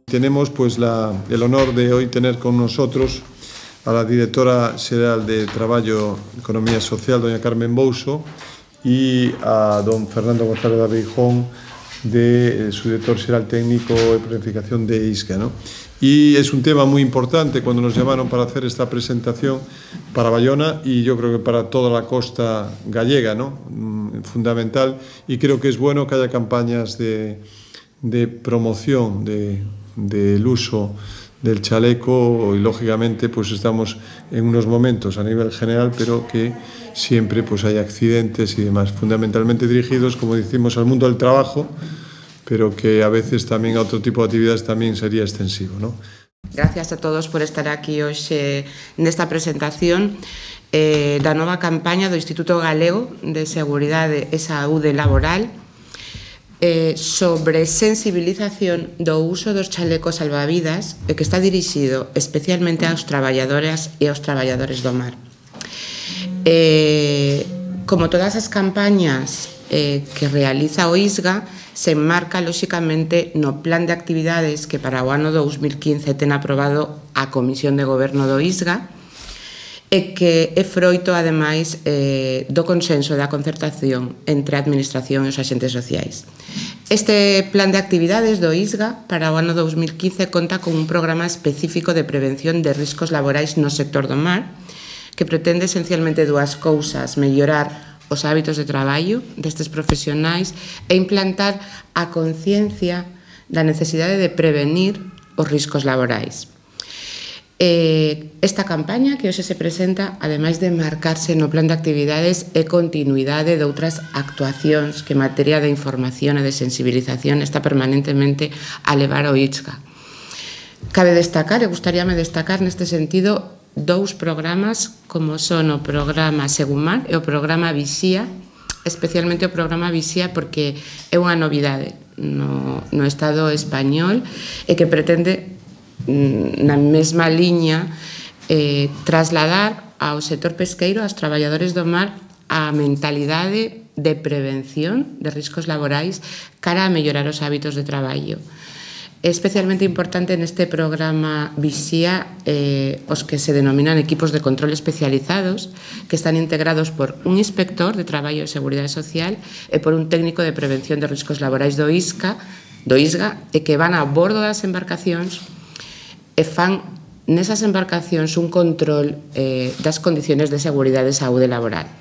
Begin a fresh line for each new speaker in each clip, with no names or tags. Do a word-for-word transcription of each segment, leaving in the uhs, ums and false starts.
Tenemos pues la, el honor de hoy tener con nosotros a la directora xeral de Traballo e Economía Social, doña Carmen Bouso, y a don Fernando González Abijón, de eh, su director xeral técnico de planificación de I S C A, ¿no? Y es un tema muy importante cuando nos llamaron para hacer esta presentación para Bayona y yo creo que para toda la costa gallega, ¿no? Mm, fundamental, y creo que es bueno que haya campañas de, de promoción de, del uso del chaleco y lógicamente pues estamos en unos momentos a nivel general, pero que siempre pues hay accidentes y demás, fundamentalmente dirigidos, como decimos, al mundo del trabajo, pero que a veces tamén a outro tipo de actividades tamén sería extensivo, ¿no?
Gracias a todos por estar aquí hoxe nesta presentación eh, da nova campaña do Instituto Galego de Seguridade e Saúde Laboral eh, sobre sensibilización do uso dos chalecos salvavidas e que está dirixido especialmente aos traballadoras e aos traballadores do mar. Eh, como todas as campañas eh, que realiza o I S G A, se enmarca, lóxicamente, no plan de actividades que para o ano dous mil quince ten aprobado a Comisión de Goberno do I S G A e que é froito, ademais, eh, do consenso e da concertación entre a Administración e os axentes sociais. Este plan de actividades do I S G A para o ano dous mil quince conta con un programa específico de prevención de riscos laborais no sector do mar que pretende esencialmente dúas cousas: mellorar os hábitos de traballo destes profesionais e implantar a conciencia da necesidade de prevenir os riscos laborais. Eh, esta campaña que hoxe se presenta, ademais de marcarse no plan de actividades, é continuidade de outras actuacións que en materia de información e de sensibilización está permanentemente a levar ao I S C A. Cabe destacar, e gustaríame destacar neste sentido, dous programas como son o programa Segumar e o programa Vixía, especialmente o programa Vixía porque é unha novidade no, no Estado español e que pretende na mesma liña eh, trasladar ao sector pesqueiro, aos traballadores do mar, a mentalidade de prevención de riscos laborais cara a mellorar os hábitos de traballo. É especialmente importante neste programa Vixía eh, os que se denominan equipos de control especializados, que están integrados por un inspector de Traballo e Seguridade Social e por un técnico de prevención de riscos laborais do I S C A, do I S G A, e que van a bordo das embarcacións e fan nesas embarcacións un control eh, das condiciones de seguridade e saúde laboral.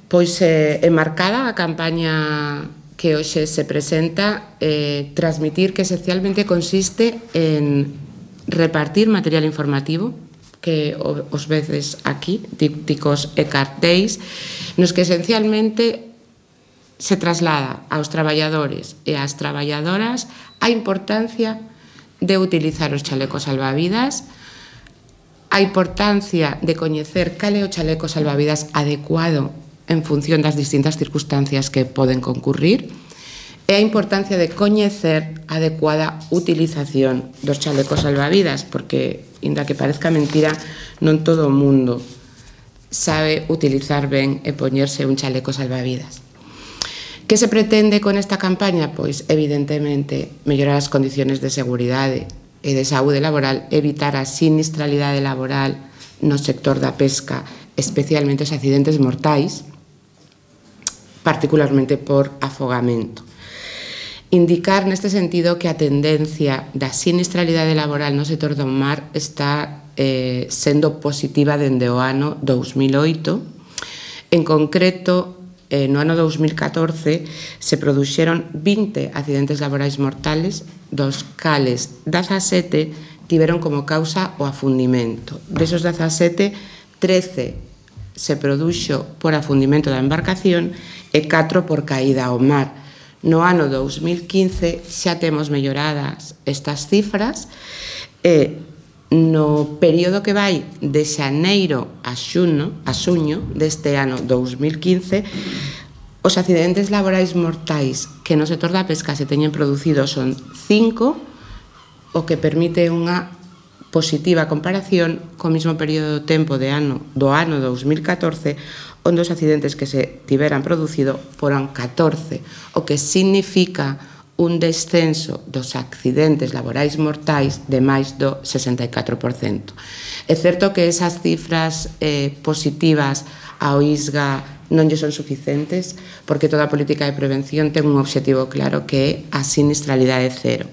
Pois é eh, marcada a campaña que hoxe se presenta, eh, transmitir que esencialmente consiste en repartir material informativo que os veces aquí, dípticos e cartéis, nos que esencialmente se traslada aos traballadores e ás traballadoras a importancia de utilizar os chalecos salvavidas, a importancia de coñecer cal é o chaleco salvavidas adecuado en función das distintas circunstancias que poden concurrir e a importancia de coñecer a adecuada utilización dos chalecos salvavidas, porque, inda que parezca mentira, non todo o mundo sabe utilizar ben e poñerse un chaleco salvavidas. Que se pretende con esta campaña? Pois, evidentemente, mellorar as condiciones de seguridade e de saúde laboral, evitar a sinistralidade laboral no sector da pesca, especialmente os accidentes mortais, particularmente por afogamento. Indicar neste sentido que a tendencia da sinistralidade laboral no sector do mar está eh, sendo positiva dende o ano dous mil oito. En concreto, eh, no ano dous mil catorce se produxeron vinte accidentes laborais mortales, dos cales dezasete tiveron como causa o afundimento. Desos dezasete, trece se produxo por afundimento da embarcación e catro por caída ao mar. No ano dous mil quince xa temos melloradas estas cifras e no período que vai de xaneiro a xuño, a xuño deste ano dous mil quince, os accidentes laborais mortais que no sector da pesca se teñen producido son cinco, o que permite unha positiva comparación co mesmo período de tempo de ano, do ano dous mil catorce, onde os accidentes que se tiveran producido foran catorce, o que significa un descenso dos accidentes laborais mortais de máis do sesenta e catro por cento. É certo que esas cifras eh, positivas ao I S G A non lle son suficientes, porque toda a política de prevención ten un obxectivo claro que é a sinistralidade cero.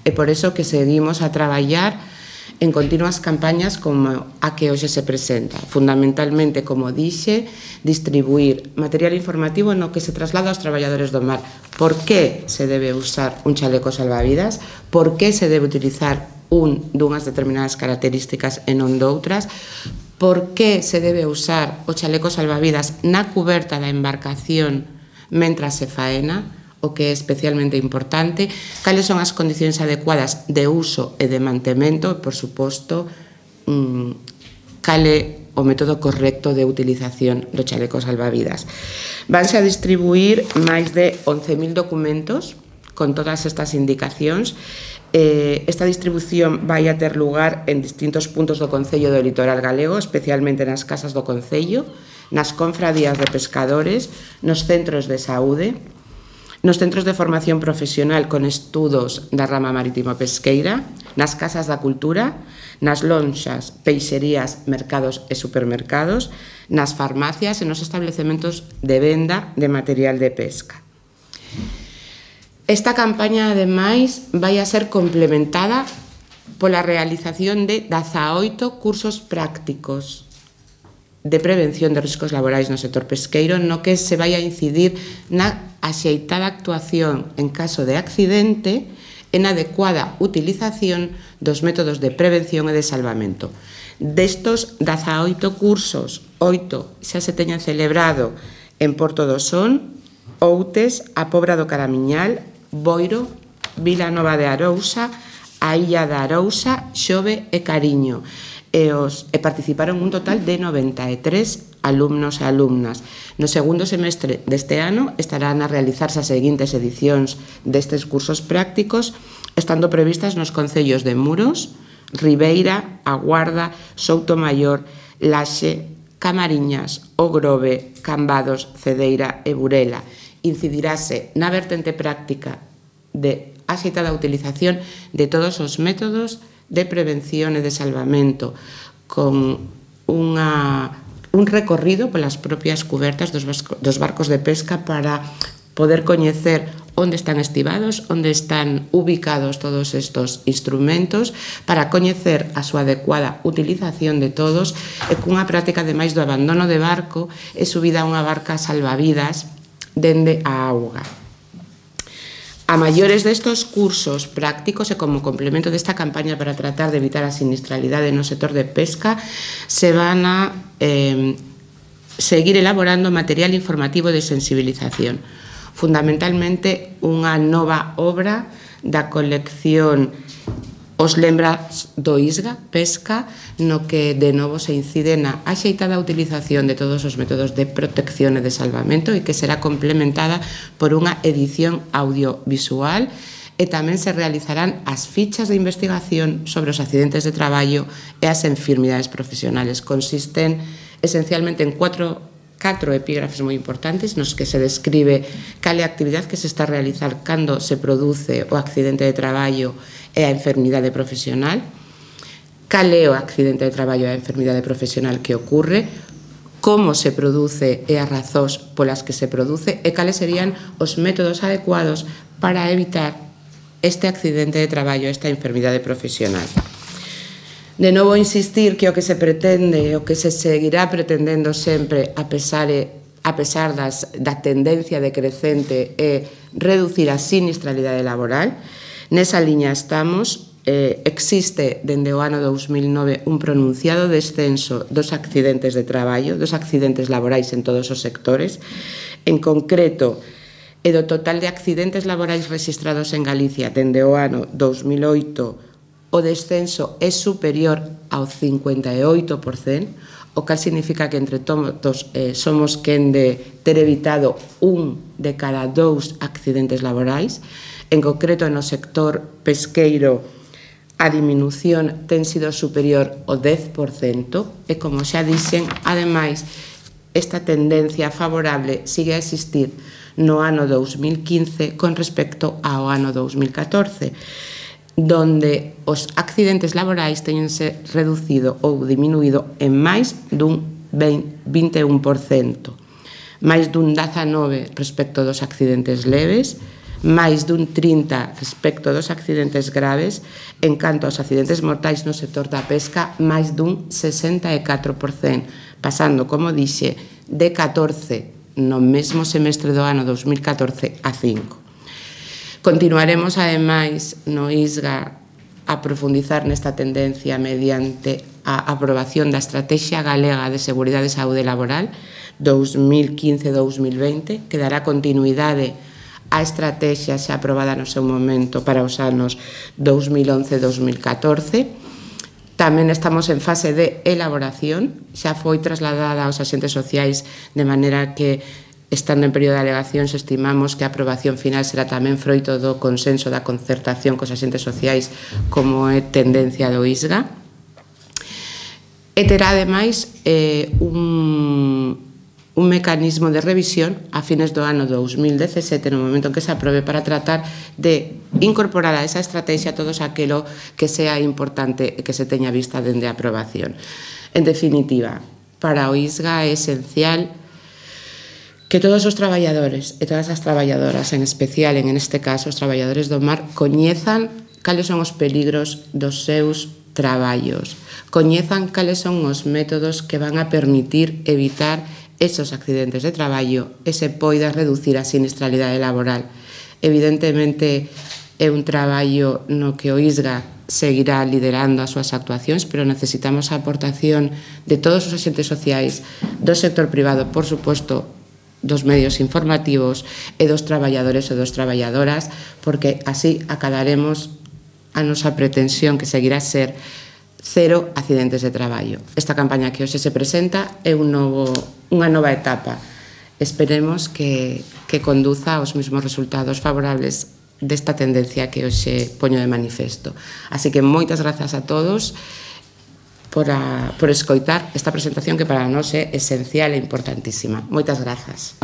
É por iso que seguimos a traballar en continuas campañas como a que hoxe se presenta. Fundamentalmente, como dixe, distribuir material informativo no que se traslada aos traballadores do mar. Por que se debe usar un chaleco salvavidas? Por que se debe utilizar un dunhas determinadas características e non doutras? Por que se debe usar o chaleco salvavidas na cuberta da embarcación mentras se faena? O que é especialmente importante, cales son as condicións adecuadas de uso e de mantemento, e, por suposto, cal é o método correcto de utilización do chaleco salvavidas. Vanse a distribuir máis de once mil documentos con todas estas indicacións. Esta distribución vai a ter lugar en distintos puntos do Concello do Litoral Galego, especialmente nas casas do Concello, nas confradías de pescadores, nos centros de saúde, nos centros de formación profesional con estudos da rama marítimo pesqueira, nas casas da cultura, nas lonxas, peixerías, mercados e supermercados, nas farmacias e nos establecementos de venda de material de pesca. Esta campaña, ademais, vai a ser complementada pola realización de dezaoito cursos prácticos de prevención de riscos laborais no sector pesqueiro, no que se vai a incidir na axeitada actuación en caso de accidente e na adecuada utilización dos métodos de prevención e de salvamento. Destos dezaoito cursos, oito xa se teñen celebrado en Porto do Son, Outes, a Pobra do Caramiñal, Boiro, Vila Nova de Arousa, a Illa da Arousa, Xove e Cariño. E, os, e participaron un total de noventa e tres alumnos e alumnas. No segundo semestre deste ano estarán a realizarse as seguintes edicións destes cursos prácticos, estando previstas nos concellos de Muros, Ribeira, A Guarda, Soutomaior, Laxe, Camariñas, O Grove, Cambados, Cedeira e Burela. Incidirase na vertente práctica de axeitada utilización de todos os métodos de prevención e de salvamento, con unha, un recorrido polas propias cubertas dos, dos barcos de pesca para poder coñecer onde están estivados, onde están ubicados todos estos instrumentos, para coñecer a súa adecuada utilización de todos e cunha práctica ademais do abandono de barco e subida a unha barca salvavidas dende a auga. A maiores destos cursos prácticos e como complemento desta campaña para tratar de evitar a sinistralidade no sector de pesca, se van a eh, seguir elaborando material informativo de sensibilización. Fundamentalmente, unha nova obra da colección Os lembras do I S G A, Pesca, no que de novo se incide na axeitada utilización de todos os métodos de protección e de salvamento e que será complementada por unha edición audiovisual e tamén se realizarán as fichas de investigación sobre os accidentes de traballo e as enfermidades profesionales. Consisten esencialmente en cuatro catro epígrafes moi importantes nos que se describe cal é a actividade que se está a realizar cando se produce o accidente de traballo e a enfermidade profesional, cal é o accidente de traballo e a enfermidade profesional que ocorre, como se produce e as razóns polas que se produce e cales serían os métodos adecuados para evitar este accidente de traballo, esta enfermidade profesional. De novo insistir que o que se pretende, o que se seguirá pretendendo sempre a pesar, a pesar das, da tendencia decrecente é reducir a sinistralidade laboral. Nesa liña estamos. Eh, existe dende o ano dous mil nove un pronunciado descenso dos accidentes de traballo, dos accidentes laborais en todos os sectores. En concreto, e do total de accidentes laborais registrados en Galicia dende o ano dous mil oito, o descenso é superior ao cincuenta e oito por cento, o cal significa que entre todos eh, somos quen de ter evitado un de cada dous accidentes laborais. En concreto, no sector pesqueiro, a diminución ten sido superior ao dez por cento e, como xa dixen, ademais, esta tendencia favorable sigue a existir no ano dous mil quince con respecto ao ano dous mil catorce, donde os accidentes laborais teñense reducido ou diminuído en máis dun vinte e un por cento, máis dun dezanove por cento respecto dos accidentes leves, máis dun trinta por cento respecto dos accidentes graves, en canto aos accidentes mortais no sector da pesca, máis dun sesenta e catro por cento, pasando, como dixe, de catorce no mesmo semestre do ano dous mil catorce a cinco. Continuaremos, ademais, no ISGA a profundizar nesta tendencia mediante a aprobación da Estrategia Galega de Seguridade e Saúde Laboral dous mil quince a dous mil vinte, que dará continuidade á estrategia xa aprobada no seu momento para os anos dous mil once a dous mil catorce. Tamén estamos en fase de elaboración, xa foi trasladada aos axentes sociais, de maneira que, estando en período de alegacións, estimamos que a aprobación final será tamén froito do consenso da concertación cos axentes sociais, como é tendencia do ISGA. E terá, ademais, eh, un, un mecanismo de revisión a fines do ano dous mil dezasete, no momento en que se aprobe, para tratar de incorporar a esa estrategia todos aquilo que sea importante que se teña vista dende a aprobación. En definitiva, para o ISGA é esencial que todos os traballadores e todas as traballadoras, en especial, en este caso, os traballadores do mar, coñezan cales son os peligros dos seus traballos, coñezan cales son os métodos que van a permitir evitar esos accidentes de traballo e se poida reducir a sinistralidade laboral. Evidentemente, é un traballo no que o ISGA seguirá liderando as súas actuacións, pero necesitamos a aportación de todos os axentes sociais, do sector privado, por suposto, dos medios informativos e dos traballadores e dos traballadoras, porque así acadaremos a nosa pretensión, que seguirá a ser cero accidentes de traballo. Esta campaña que hoxe se presenta é un novo, unha nova etapa. Esperemos que, que conduza aos mesmos resultados favorables desta tendencia que hoxe poño de manifesto. Así que moitas grazas a todos por, a, por escoitar esta presentación, que para nós é esencial e importantísima. Moitas grazas.